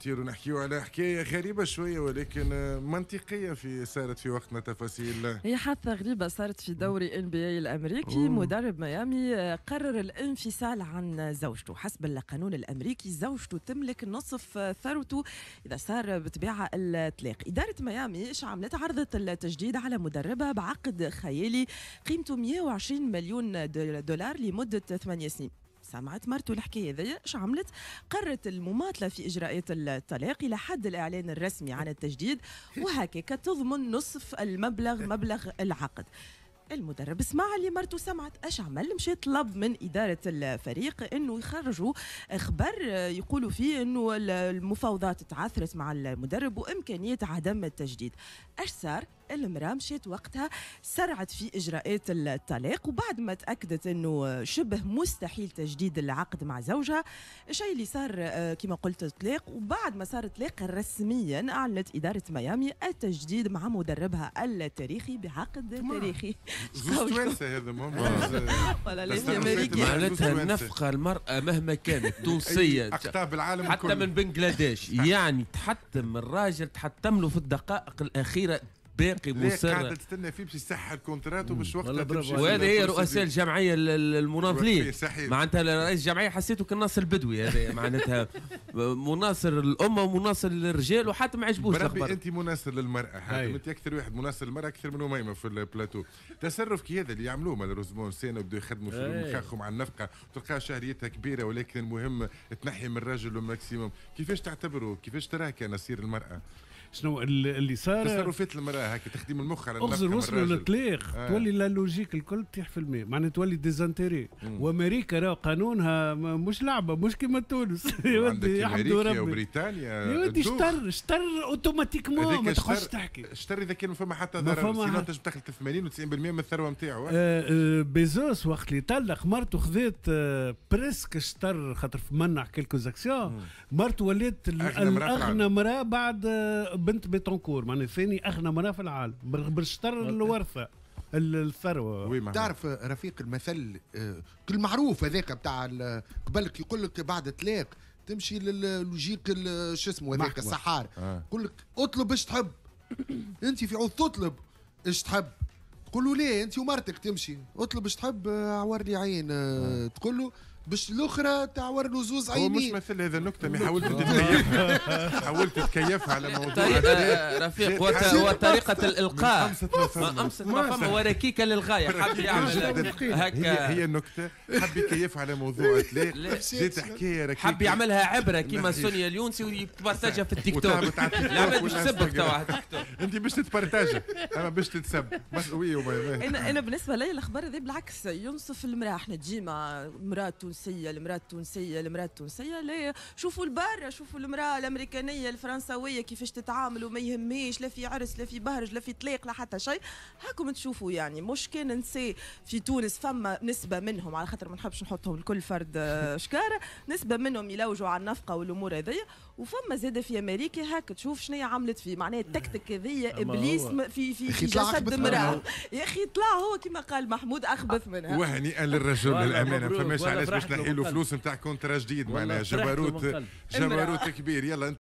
نطيروا نحكيو على حكاية غريبة شوية ولكن منطقية في صارت في وقتنا تفاصيل. هي حادثه غريبة صارت في دوري NBA الامريكي. مدرب ميامي قرر الانفصال عن زوجته. حسب القانون الامريكي زوجته تملك نصف ثروته اذا صار بطبيعة الطلاق. ادارة ميامي ايش عملت؟ عرضت التجديد على مدربها بعقد خيالي قيمته 120 مليون دولار لمدة 8 سنين. سمعت مرته الحكاية ذي، ايش عملت؟ قررت المماطله في اجراءات الطلاق الى حد الاعلان الرسمي عن التجديد، وهكاك تضمن نصف المبلغ، مبلغ العقد. المدرب سمع اللي مرته سمعت، اش عمل؟ مشى طلب من ادارة الفريق انه يخرجوا خبر يقولوا فيه انه المفاوضات تعثرت مع المدرب وامكانية عدم التجديد. اش صار؟ المراة مشيت وقتها سرعت في اجراءات الطلاق، وبعد ما تاكدت انه شبه مستحيل تجديد العقد مع زوجها، الشيء اللي صار كما قلت طلاق. وبعد ما صار طلاق رسميا اعلنت ادارة ميامي التجديد مع مدربها التاريخي بعقد تاريخي. هذا معناتها النفقة المراة مهما كانت تونسية اقطاب العالم حتى من بنغلاديش، يعني تحتم الراجل، تحتم له في الدقائق الاخيرة باقي مصر قاعدة تستنى فيه باش يسحر contrat وباش وقتها تمشي. وهذه هي رؤساء الجمعية المناضلين، معناتها رئيس الجمعية حسيته كالناصر البدوي هذا، معناتها مناصر الامة ومناصر للرجال، وحتى ما عجبوش الخبر. انت مناصر للمراة حاتم، انت اكثر واحد مناصر للمراة اكثر من اميمة في البلاتو. تصرف كي هذا اللي يعملوه malheureusement سنة وبداو يخدموا في مخاخهم على النفقة، تلقاها شهريتها كبيرة ولكن المهم تنحي من الرجل ال maximum. كيفاش تعتبره؟ كيفاش تراه كنصير المراة؟ شنو اللي صار؟ تصرفات المراة هكا تخدم المخ على النفقة. اغزر وصلوا للطلاق تولي la logique الكل تطيح في الماء، معناها تولي des intérêts. وامريكا راه قانونها مش لعبه، مش كيما تونس. يا ودي امريكا وبريطانيا يا ودي شطر automatiquement، ما تخش تحكي شطر اذا كان فما حتى ضرر، sinon تنجم تاخذ 80 و90% من الثروة نتاعو. بيزوس وقت اللي طلق مرته خذت presque شطر، خاطر منع quelques actions، مرته ولات اغنى مراة بعد بنت بيتونكور، معناها ثاني اغنى مراة في العالم بالشطر الورثة الثروة. تعرف رفيق المثل المعروف هذاك بتاع قبلك يقول لك بعد طلاق تمشي لل logique شو اسمه هذاك السحار، يقول لك اطلب ايش تحب. انت في عوض تطلب ايش تحب تقول له ليه انت ومرتك تمشي اطلب ايش تحب عور لي عين، تقول له باش الاخرى تعور له زوز عينين. هو مش مثل هذا النكتة، mais حاولت تتكيفها، حاولت تتكيفها على موضوع. طيب رفيق وطريقه الالقاء ما امسك ما فما وركيكه للغاية، حب يعمل هكا. هي النكتة حب يكيفها على موضوع طلاق، جات حكاية ركيكه، حب يعملها عبره كيما سونيا اليونسي ويبارتاجها في التيك توك. العباد باش تسبك توا على التيك توك، انت باش تتبارتاجها اما باش تتسب. انا بالنسبة لي الاخبار هذه بالعكس ينصف المراة. احنا ديما مراة التونسية، المراة التونسية، المراة التونسية، لا شوفوا البارة، شوفوا المراة الامريكانيه الفرنسويه كيفاش تتعامل وما يهميش لا في عرس لا في بهرج لا في طلاق لا حتى شيء. هاكم تشوفوا يعني مش كان نساء في تونس، فما نسبه منهم على خاطر ما نحبش نحطهم الكل فرد شكاره، نسبه منهم يلوجوا على النفقة والامور هذيا، وفما زاده في امريكا هاك تشوف شنو عملت فيه، معناها التكتك هذيا ابليس في في في جسد امراة. يا اخي طلع هو كما قال محمود اخبث منها. وهنيئا للرجل للامانة، فماش علاش باش نحيلو فلوس نتاع contrat جديد، معناها جبروت جبروت كبير. يلا.